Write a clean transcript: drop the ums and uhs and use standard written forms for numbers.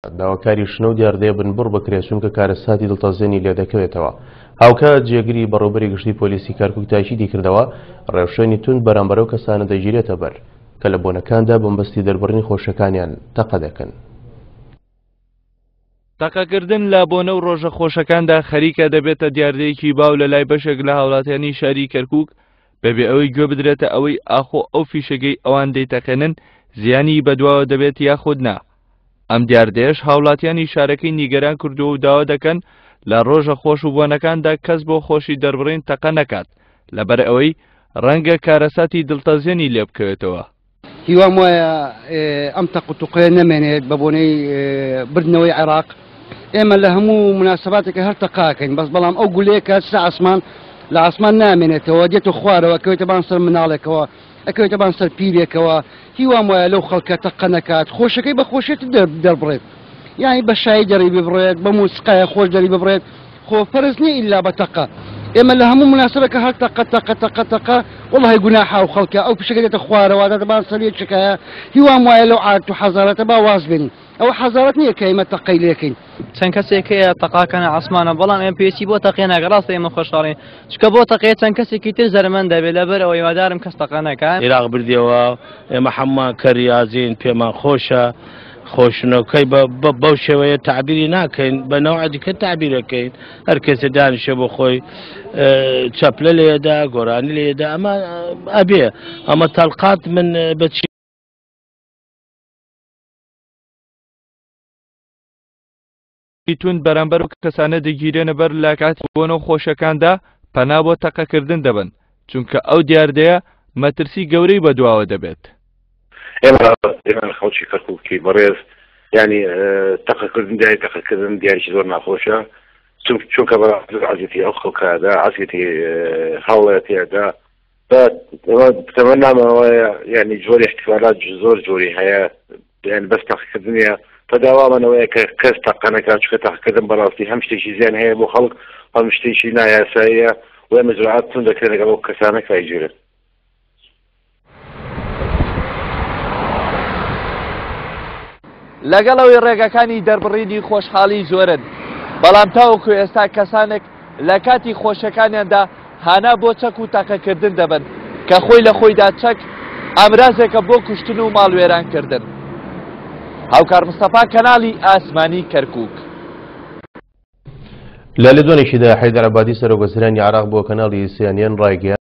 داواکاری شنە و دیاردەیە بنبڕ بکرێت چونکە کارەساتی دڵتەزێنی لێدەکەوێتەوە. هاوکات جێگری بەڕێوبەری گشتی پۆلیسی کەرکوک تاکیدی کردەوە، ڕێوشوێنی توند بەرامبەر ئەو کەسانە دەگیرێتە بەر کە لە بۆنەکاندا بەمەبەستی دەربڕینی خۆشیەکانیان تەقە دەکەن. تەقەکردن لە بۆنە و ڕۆژە خۆشەکاندا خەریکە دەبێتە دیاردەیەکی باو لە لای بەشێک لە هاوڵاتیانی شاری کەرکوک بەبێ ئەوەی گوێ بدرێتە ئەوەی ئاخۆ ئەو فیشەگەی ئەوان دەیتەقێنن زیانی بەدواوە دەبێت یاخود نا. ئەم دیاردەیەش هاوڵاتیانی شارەکەی نیگەران کردووە و داوا دەکەن لە ڕۆژە خۆش و بۆنەکاندا کەس بۆ خۆشی دەربڕین تەقە نەکات لەبەر ئەوەی ڕەنگە کارەساتی دڵتەزێنی لێ بکەوێتەوە. هیوام وایە ئەم تەق و توقەیە نەمێنێت بە بۆنەی بردنەوەی عێراق ئێمە لە هەموو مناسباتێکە هەر تەقاکەین بەس بەڵام ئەو گولەیە کە چتە ئاسمان لە ئاسمان نامێنێتەوە دێتە خوارەوە کەوێتە بان سەر مناڵێکەوە ئەکەوێتە بان سەر پیرێکەوە هیوام وایە لەو خەڵکە تەقە نەکات خۆشەکەی بە خۆشێت دەربڕێت یانی بە شایی دەری ببڕێت بە موسیقایە خۆش دەری ببڕێت خۆ فەرز نییە ئیلا بە تەقە ئێمە لە هەموو مناسبەکە هەر تەقە تەقە تەقە تەقە وەڵی گوناحە و خەڵکە ئەو پیشەکە دێتە خوارەوە دەتە بان سەر یەکێکایە هیوام وایە لەو عادەت و حەزارەتە با واز بێنین ئەوە حەزارەت نییە کە ئێمە تەقەی لێکەین. چەند کەسێک هەیە تەقاکەنە عەسمانە بەڵام ئێمە پێویستی بۆ تەقێ ناکە ڕاستە ئێمە خۆشحاڵین چونکە بۆ تەقێ چەند کەسێکی تر زەرەمەند دەبێت لەبەر ئەوە هیوادارم کەس تەقە نەکا. عیراق بردیەوە ئێمە حەمومان کەریازین پێمان خۆشە خۆشنەکەی بەو شێوەیە تعبیری ناکەین بە نەوع دیکە تعبیرەکەین هەر کەسێ دانیشێ بۆ خۆی چەپلە لێدا گۆرانی لێدا ئەمە ئەبێ ئەمە تەلقات من بەچی توند بەرامبەر و کەسانە دەگیرێنە بەر لە کاتی بۆنە و خۆشەکاندا پەنا بۆ تەقەکردن دەبەن چونکە ئەو دیاردەیە مەترسی گەورەی بەدواوە دەبێت. ئێمە خەڵکی کەرکوکی بەڕێز ینی تەقەکردن دیاری تەقەکردن دیارێکی زۆر ناخۆشە چونکە بەڕاستی عەزیەتی ئەو خەڵکەدا عەزیەتی هاوڵاتیەدا تەمەنامەوەیە یعنی جۆری احتیالات زۆر جۆری هەیە یعنی بەس تەقەکردنیە فداوامانەوەیە کە کەس تەقە نەکات چونکە تەقەکردن بەڕاستی هەم شتێکی زیان هەیە بۆ خەڵک هەم شتێکی نایاساییە و ئێمە جرعات توند دەکرێن لەگەڵ ئەو کەسانە کە ئەیگیرن. لەگەڵ ئەوەی ڕێگەکانی دەربڕینی خۆشحاڵی زۆرن، بەڵام تاوەکو ئێستا کەسانێک لە کاتی خۆشیەکانیاندا هانا بۆ چەک و تەقەکردن دەبەن، کە خۆی لە خۆیدا چەک ئامرازێکە بۆ کوشتن و ماڵوێرانکردن. هاوکار مستەفا کەناڵی ئاسمانی کەرکوک. لە لێدوانێکیدا حەیدەر عەبادی سەرۆک وەزیرانی عێراق بۆ کەناڵی سیانیان ڕایگەیاند.